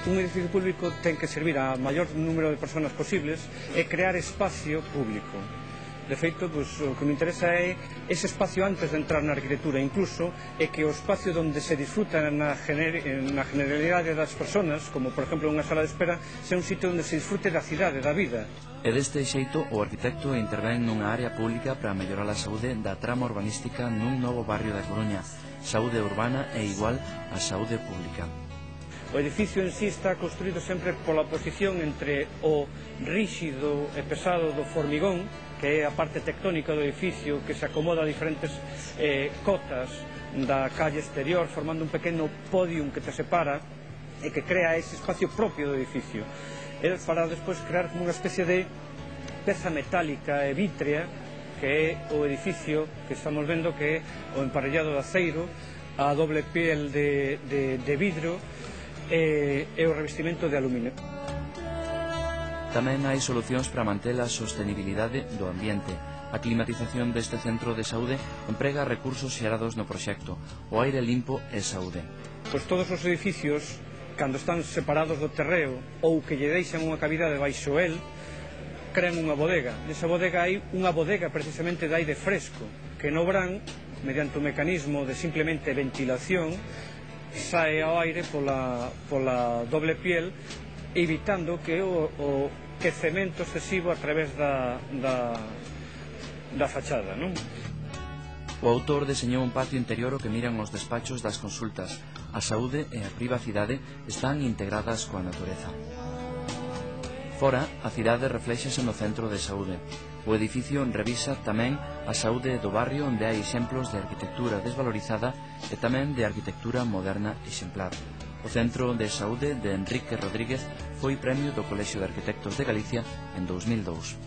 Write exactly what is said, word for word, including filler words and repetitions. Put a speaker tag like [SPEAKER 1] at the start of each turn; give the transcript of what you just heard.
[SPEAKER 1] Un edificio público ten que servir a maior número de persoas posibles e crear espacio público. De feito, pues, o que me interesa é ese espacio antes de entrar na arquitectura, incluso é que o espacio onde se disfruta na, gener na generalidade das persoas, como por exemplo unha sala de espera, sea un sitio onde se disfrute da cidade, da vida.
[SPEAKER 2] E deste xeito, o arquitecto intervén nunha área pública para mellorar a saúde da trama urbanística nun novo barrio da Coruña. Saúde urbana é igual a saúde pública.
[SPEAKER 1] O edificio en sí está construído sempre pola oposición entre o ríxido e pesado do formigón, que é a parte tectónica do edificio que se acomoda a diferentes eh, cotas da calle exterior, formando un pequeno podium que te separa e que crea ese espacio propio do edificio. E para despois crear como unha especie de peza metálica e vítrea, que é o edificio que estamos vendo, que é o emparellado de aceiro, a doble piel de, de, de vidro e, e o revestimento de aluminio.
[SPEAKER 2] Tamén hai solucións para manter a sostenibilidade do ambiente. A climatización deste centro de saúde emprega recursos xerados no proxecto, o aire limpo e saúde.
[SPEAKER 1] Pois todos os edificios, cando están separados do terreo ou que lle deixan unha cavidade baixo el, crean unha bodega. Nesa bodega hai unha bodega precisamente de aire fresco, que no verán, mediante un mecanismo de simplemente ventilación, sae ao aire pola, pola doble piel, evitando que o, o quecemento excesivo a través da, da, da fachada, non?
[SPEAKER 2] O autor deseñou un patio interior o que miran os despachos das consultas. A saúde e a privacidade están integradas coa natureza. Fora, a cidade refléxase no centro de saúde. O edificio revisa tamén a saúde do barrio onde hai exemplos de arquitectura desvalorizada e tamén de arquitectura moderna exemplar. O Centro de Saúde de Enrique Rodríguez foi premio do Colexio de Arquitectos de Galicia en dous mil dous.